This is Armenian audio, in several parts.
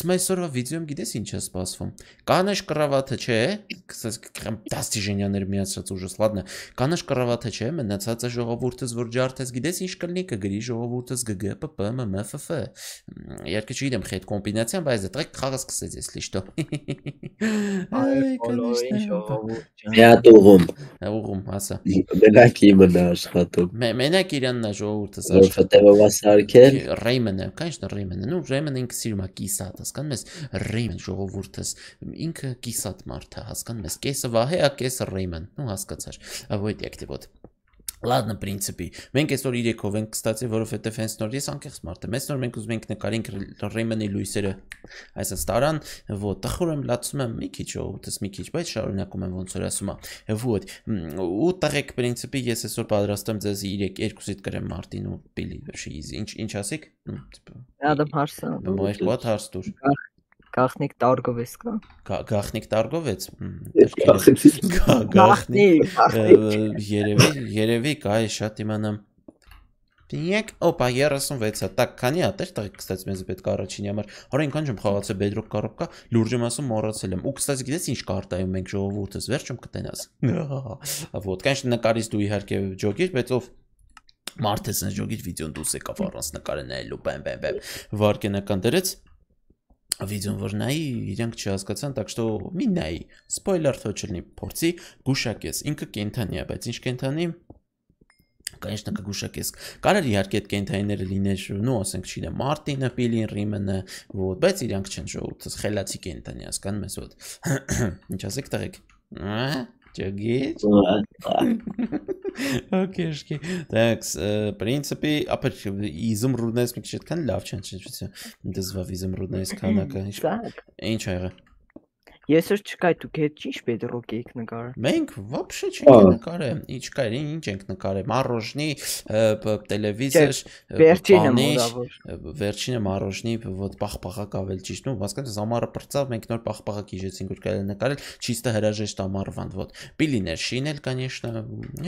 Այսօրվա վիդեոյում գիտես ինչ է սպասվում։ Կանաչ կռավաթը չէ, դաստիժենյաներ միացրած ուժս, ладно, կանաչ կռավաթը չէ, մնացածը ժողովուրդս որ ջարդես, գիտես ինչ կլինի, կգրի ժողովուրդս ԳԳ ՊՊ ՄՄՖ։ Իհարկե չգիտեմ խետ կոմբինացիան, բայց դա խաղը սկսեց էս լիշտո։ Այ բոլորին ժողովուրդ ջան։ Միատ ուղում։ Ուղում, հասա։ Մենակ իմն է աշխատում։ Մենակ իրանն է ժողովուրդս աշխատում։ Որովհետև սարքել Ռեյմանը, конечно, Ռեյմանը, ну Ռեյմանը ինքը սիրում է կիսատ, հասկանում ես, Ռեյմեն ժողովուրդս, ինքը կիսատ մարդ է, հասկանում ես, կեսը վահե է, կեսը Ռեյմեն, ну հասկացար, вот як-то вот. Ладно, в принципе, մենք այսօր 3-ով ենք, կստացի, որովհետև հենց նոր ես անկեղծ մարդ եմ, այսօր մենք ուզում ենք նկարենք Ռեյմենի լույսերը, այսպես տարան, вот, տխուր եմ լացում եմ մի քիչ, օտս մի քիչ, բայց շարունակում եմ ոնց որ ասում եմ, вот, ու տղեկ, в принципе, ես այսօր պատրաստեմ ձեզ 2-ից կրեմ Մարտին ու Պիլի, վերջի, ինչ ասեք, Ադամ հարսը, մոյր կոտ հարս դուր, Գախնիկ տարգովեց կա։ Գախնիկ տարգովեց։ Գախնիկ։ Երևի կա է շատ իմանամ։ Դինեք, օպա 36-ը, տակ քանի հատ էր, տղեկ կստաց մեզ պետք է առաջինի համար։ Հորա ինքան չեմ խաղացել Bedrock կառոպկա, լուրջ եմ ասում մոռացել եմ։ Ու կստաց գիտես ինչ կարտայում մենք ժողովուրդս վերջում կտենաս։ Вот, конечно, նկարից դու իհարկե ջոգիր, բայց ով մարդես են ջոգիր վիդեոն դուս եկավ առանց նկարը նայելու, բեմ, վարկենական դրեց Видео որ նայի, իրանք չհասկացան, так что մի նայի, սպոյլեր թող չլինի, փորձի գուշակես, ինքը կենթանի է, բայց ինչ կենթանի, конечно, կգուշակես, կարելի իհարկե այդ կենթանիները լիներ, ну, ասենք չինը, Մարտինը, Պիլին, Ռիմենը, вот, բայց իրանք չեն ժողովուրդս, խելացի կենթանի, հասկանում ես, вот, ինչ ասեք տղեկ, ջոգիչ, окейшки, так, в принципе, ապեր իզումրուդներից մի քիչ այդքան լավ չեն, դզվավ իզումրուդներից քանակը, ինչ ա եղել։ Ես որ չկայ դուք հետ ճիշտ Bedrock եք նկարել։ Մենք вообще չենք նկարել, ինչ կա, ինչ ենք նկարել, Մարոժնի, տելևիզոր, վերջինը Մարոժնի, вот պախպախակ ավել ճիշտ, ну, հասկանաս, ամառը պրծավ, մենք նոր պախպախակ իջեցինք, որ կարելի նկարել, чисто հրաժեշտ ամառվան, вот, Պիլիներ շինել, конечно,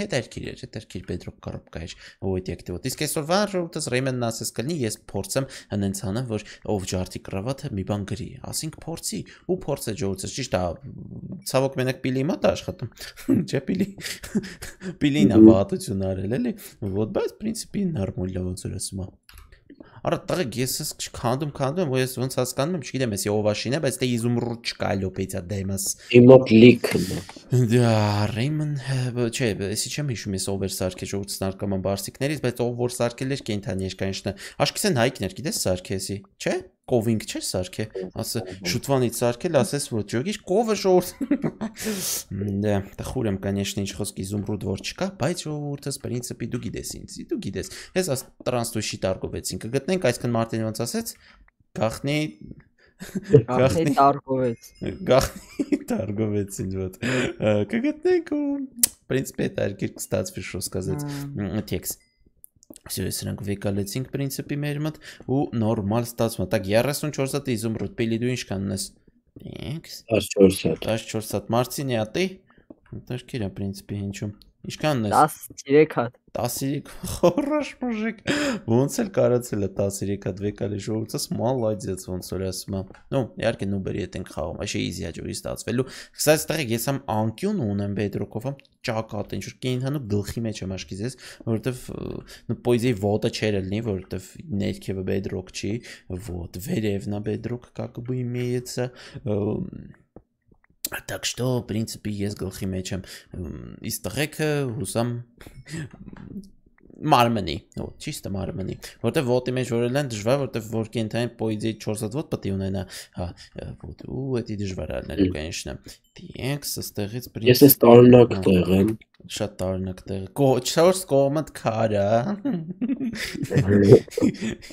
հետերքիր Bedrock կառոպկա էր, вот եկտե, вот, իսկ այսօր վարժուտս Ռեյմենն ասես կլինի, ես փորձեմ հենց անեմ, որ ով ջարդի կռավաթը մի բան գրի, ասենք փորձի, ու փորձը ջոուց ճիշտ է, ցավոք մենակ Պիլի մոտ աշխատում, չէ Պիլին է վատություն արել, էլի, вот, բայց, в принципе, նորմալ ոնց որ ասում է։ Արա տղեկ, ես քանդում, ու ես ոնց հասկանում եմ, չգիտեմ, ես ովաշին է, բայց դե իզումրուդ չկա լոպեյցա դեմս։ Իմոտ լիքն է։ Դա Ռեյմեն, չէ, էսի չեմ հիշում ես ով էր սարքել ժողովրդի նարկոման բարսիկներից, բայց ով որ սարքել էր կենթանի էր, конечно, աշկիսեն հայկներ, գիտես սարքեսի, չէ։ Կովինգ չէ սարքե, ասը շուտվանից սարքել, ասես որ ջոգի կովը ժողովուրդ։ Դա տխուր եմ, конечно, ինչ խոսք իզումրուդ որ չկա, բայց ժողովուրդս принципе դու գիտես ինձ, դու գիտես։ Ես աս տրանսդուշի տարգովեցին, կգտնենք այսքան Մարտին ոնց ասեց, գախնի տարգովեցին, вот։ Կգտնենք ու принципе это արկիր կստացվի շո սկազեց տեքստ։ Все, սրանք վեկալեցինք принципе մեր մոտ ու նորմալ ստացվում է։ Так 34 հատ իզումրուդ Պիլի դու ինչքան ունես։ 14 հատ Մարտինի ատի։ Դաշկիրա принципе ինչու։ Ինչքան ունես։ 13 հատ։ 13 хорош мужик։ Ոնց էլ կարացել է 13 հատ վեկալի ժողովուրդս մալադец ոնց որ ասում եմ։ Ну, իհարկե նուբերի հետ ենք խաղում, այշե easy է ջուրի ստացվելու։ Կսած տղեկ ես ամ անկյուն ունեմ Bedrock-ով, ճակատ ինչ որ կենթանու գլխի մեջ եմ աշկիզես, որովհետև ну поэзии вода չէր լինի, որովհետև ներքևը Bedrock չի, вот, վերևն է Bedrock, как бы имеется Так что, в принципе, ես գլխի մեջ եմ իս տղեկը հուսամ մարմնի, вот, чисто մարմնի, որտեվ ոտի մեջ որել են դժվար, որտեվ որ կենթային պոեզիայի 4 հատ ոտ պետք է ունենա, հա, вот, ու էդի դժվար ալնելու, конечно, տենք, ստեղից Ես ես տարօրինակ տեղ եմ, շատ տարօրինակ տեղ, 4 կողմդ քարա,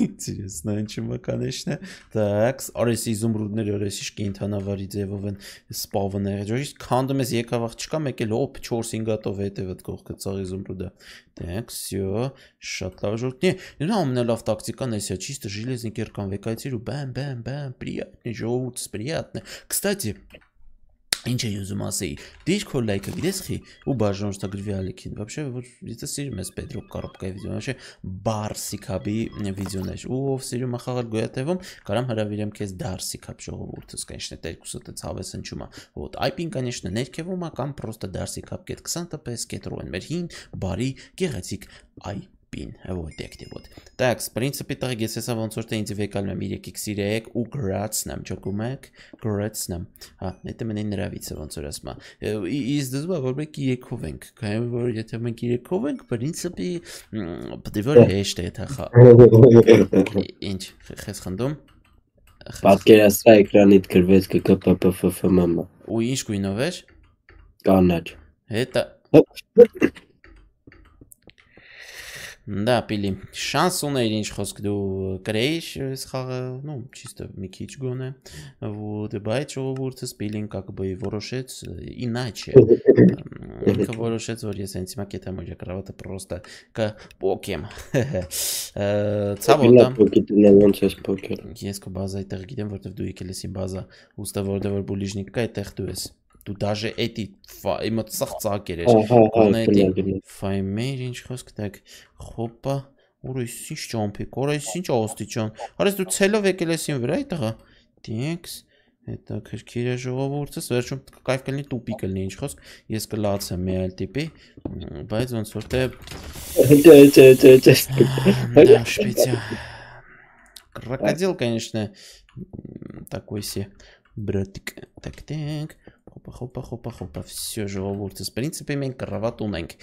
интересно, ինչու՞մ է, конечно, так, արես իզումրուդներ, արես իշ կենթանավարի ձևով են սպավները, ջոյիշ քանդում ես եկավ աղջկա, մեկ էլ օպ 4-5 հատով հետևդ կողքը ծաղ իզումրուդը, так, всё, շատ լավ ժողովուրդ, не, ամենալավ տակտիկան էսա, чисто железный киркан вեկայցիր ու բամ, приятный, ժողովուրդս приятный, кстати, Ինչ է ուզում ասեի, դիր քո լայքը գիտես խի ու բաժանորդագրվի ալիքին вообще որ եթե սիրում ես Պետրո Կորոպկայի վիդեոն вообще բարսիկաբի վիդեոներ ու ով սիրում է խաղալ գոյատևում կարամ հրավիրեմ քեզ դարսիկապ ժողովուրդս конечно տերկուսը դե ցավես հնչում է вот IP-ն конечно ներքևում է կամ просто դարսիկապ.20 տպես կետրոն մեր հին բարի գեղեցիկ IP-ն вот դեկտի вот так в принципе так если я ոնց որ թե ինձ վեկալում եմ 3x3 ու գրացնեմ ճոկում եք գրացնեմ հա դա մենին նравится ոնց որ ասма из դզվա որ մենք 3-ով ենք քանի որ եթե մենք 3-ով ենք в принципе պետք է որ հեշտ է դա ինչ խես խնդում Պատկերացրա էկրանիդ գրվեց ԿԿՊՊՖՄՄ ու ինչ գույնով էր կանաչ это Да, пили. Шанс у меня խոսք դու կրեиш սխաղը, ну, чисто մի քիչ գոնե. Вот, բայց ժողովուրդը спилин как бы որոշեց иначе. Ինքը որոշեց, որ ես հենց հիմա կետեմ որ կրավատը просто կփոկեմ. Ցավոտ է. ոնց ես փոքր Ես քո բազայի տեղ գիտեմ, որտեվ դու եկել ես իմ բազա, ուստա որտեվ որ բուլիժնիկ կա, այդտեղ դու ես. Դու даже эти эмоцияк երես կոնետի ֆայմեր ինչ խոսք տակ խոպա ուրիշ ինչ ճամփի կորես ինչ ոստիճան հարես դու ցելով եկել ես ին վրա այդտեղա տեքս հետա քրքիրը ժողովուրդս վերջում կայֆ կլինի տուպի կլինի ինչ խոսք ես կլացեմ մի այլ տիպի բայց ոնց որ թե да шпица крокодил конечно такой се братик так Հոպա, всё ժողովուրդս, в принципе մենք կռավատ ունենք,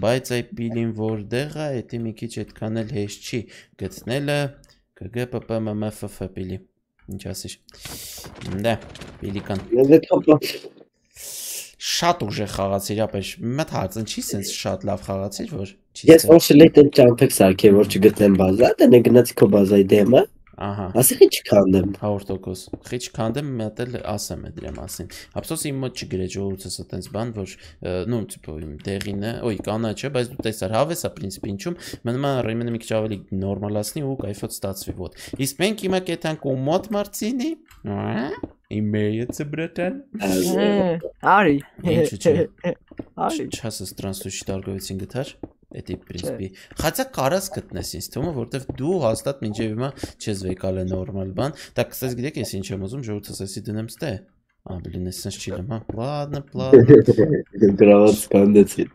բայց այ պիլին որտեղ է, դա մի քիչ այդքան էլ հեշտ չի գտնելը, ԿԳՊՊՄՄՖ պիլի, ինչ ասиш, դա, պիլիկան, շատ ուժեղ խաղացիր, ապեշ, մտ հարցն չի սենց շատ լավ խաղացիր, որ Ես ոչ լետ եմ ճամփեք սարքել, որ չգտնեմ բազա, դա գնացի քո բազայի դեմը Ահա Ասի քիչ քանդեմ 100% քիչ քանդեմ մտել ասեմ դրա մասին Ափսոս իմ մոտ չգրե ժողովուրդս այտենց բան որ ну типа իմ տեղին է ոյ կանաչը բայց դու տեսար հավես է принципе ինչում մնում է ռեմենը մի քիչ ավելի նորմալացնի ու кайֆոտ ստացվի вот իսկ մենք հիմա կետանք ու մոտ մարցինի Имеется, братан. Ари. Ари. Сейчас странствующий торговец գտար Էդի պրինցիպի Խացա կարաս գտնես ինձ թվում է որտեվ դու հաստատ մինչև հիմա չես վեկալ է նորմալ բան Так, кстати, գիտեք ես ինչ եմ ուզում ժողովուրդս ասի դնեմ ստե Блин, ես sense չիլեմ, հա Ладно Գրաված կանդեցի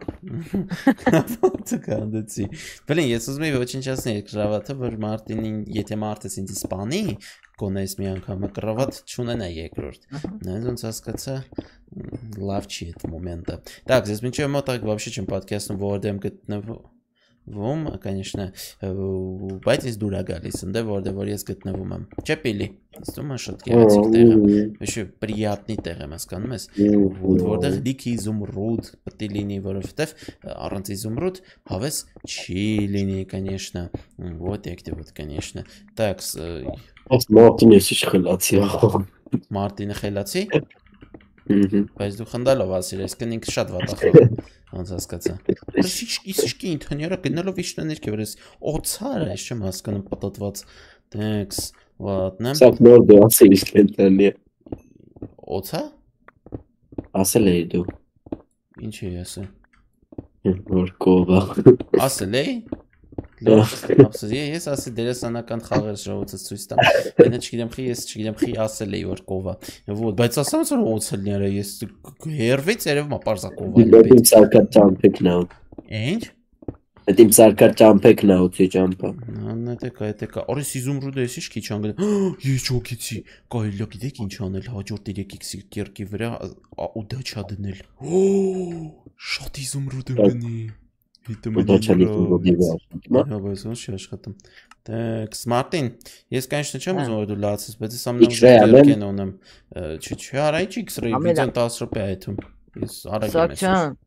Կանդեցի Блин, ես ուզում եմ ոչնչացնել գրավատը որ Մարտինին եթե Մարտես ինձ սպանի կոնես մի անգամ կռավատ չունենա երկրորդ Նայած ոնց հասկացա լավ չի այդ մոմենտը Так, здесь մինչև մոտակ вообще չեմ պատկերացնում որտեղ եմ գտնվում конечно բայց ես դուր է գալիս ընդ որտեղ ես գտնվում եմ Չէ պիլի Ստում է շատ գեղեցիկ տեղ եմ Вообще приятный տեղ եմ հասկանում ես որտեղ լիքի զումրուդ պետք է լինի որովհետև առանց զումրուդ հավես չի լինի конечно вот եկտե вот конечно Так Մարտին ես իշխելացի Մարտինը խելացի Բայց դու խնդալով ասիր, այսքան ինքը շատ վատախով ոնց հասկացա Իսկ ինթաները գնալով իշնա ներքև ես օծար ես չեմ հասկանում պատտված Thanks ладно Սա նոր դու ասել իսկ ընտանի Օծա Ասել էի դու Ինչ էի ասել Որ կովա Ասել էի Ափսոս ես ասի դերասանական խաղեր ժողովրդից ցույց տամ Այնա չգիտեմ խի ես չգիտեմ խի ասել էի որ կովա Вот բայց ասեմ որ օծելները ես հերվից երևում է պարզա կովա Իմ սարկա ճամփեկն է Ինչ Այդ իմ սարկա ճամփեկն է ուծի ճամփա Նետեկա Օրես իզումրուդը ես ինչ քիչ անգամ Ես ճոգեցի Կարելի է գիտեք ինչ անել հաջորդ 3x կերկի վրա ու դա չդնել Շատ իզումրուդ ունի Հիտը մենի աշխատում Так, Մարտին, ես конечно չեմ ուզում որ դու լացես, բայց ես ամենաուժեղ կեն ունեմ Չի արա ինչ X-ray վիդեոն 10 րոպե այդում Ես արագ եմ Սակչան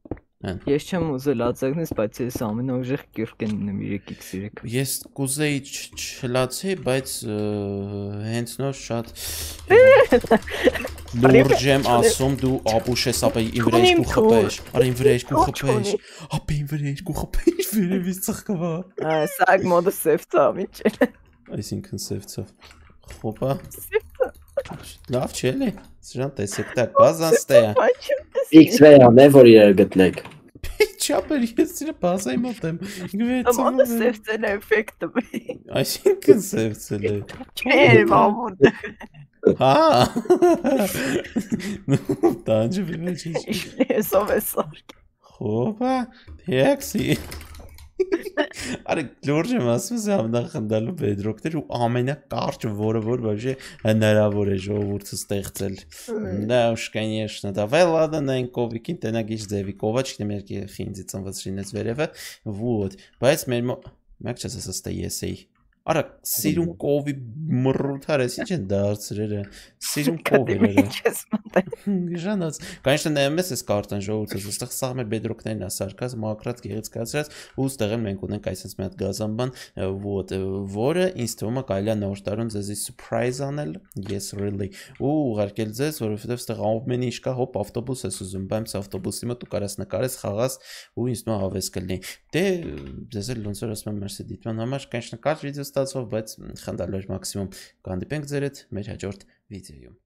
Ես չեմ ուզել ածակնես, բայց ես ամենաուժեղ կիրկեն ունեմ 3x3 Ես կուզեի չլացի, բայց հենց նոր շատ Լուրջ եմ ասում դու ապուշ ես ապա իմ վրա ես կու խպեշ Արա իմ վրա ես կու խպեշ Ապա իմ վրա ես կու խպեշ վերևից ծխկվա Սակ մոդը սևցավ ինչ Այսինքն սևցավ Խոպա Լավ չի էլի Սրան տեսեք, տակ, բազան ստե է։ X-ray անե, որ իրար գտնեք։ Չապեր, ես իրը բազայի մոտ եմ։ Ամանը սևցել է էֆեկտը։ Այսինքն սևցել է։ Չէ, մամուտ։ Հա։ Տանջը վիվեջի։ Ես ով է սարկ։ Խոպա, թեքսի։ Արի լուրջ եմ ասում ես ամենախնդալու բեդրոկներ ու ամենակարճը, որը որ вообще հնարավոր է ժողովուրդը ստեղծել։ Да уж, конечно, давай ладно на инковикին տենագիչ ձևի կովաչն մերկի խինձի ծնված շինեց վերևը, вот, բայց մեր մեկ չես ասա ես էի։ Արա, սիրուն կովի մռութարես, ինչ են դարձրերը, սիրուն կովերը։ Ժանած, конечно, նայում ես կարտան ժողովուրդը, այստեղ սաղ մեր բեդրոկներն է սարկած, մակրած, գեղեցկացրած, ու ստեղ մենք ունենք այսպես մի հատ գազանբան, вот, որը ինձ թվում է կարելի է նոր տարուն ձեզի surprise անել, yes really, ու ուղարկել ձեզ, որովհետև ստեղ ամեն ինչ կա, հոպ ավտոբուս ես ուզում, բայց ավտոբուսի մոտ ու կարաս նկարես, խաղաս, ու ինձ թվում է հավես կլինի։ Դե ձեզ էլ ոնց որ ասում եմ, մերսի դիտման համար, конечно, կարճ վիդեո ստացվող, բայց խնդալու էր մաքսիմում կհանդիպենք ձեր հետ մեր հաջորդ վիդեոյում։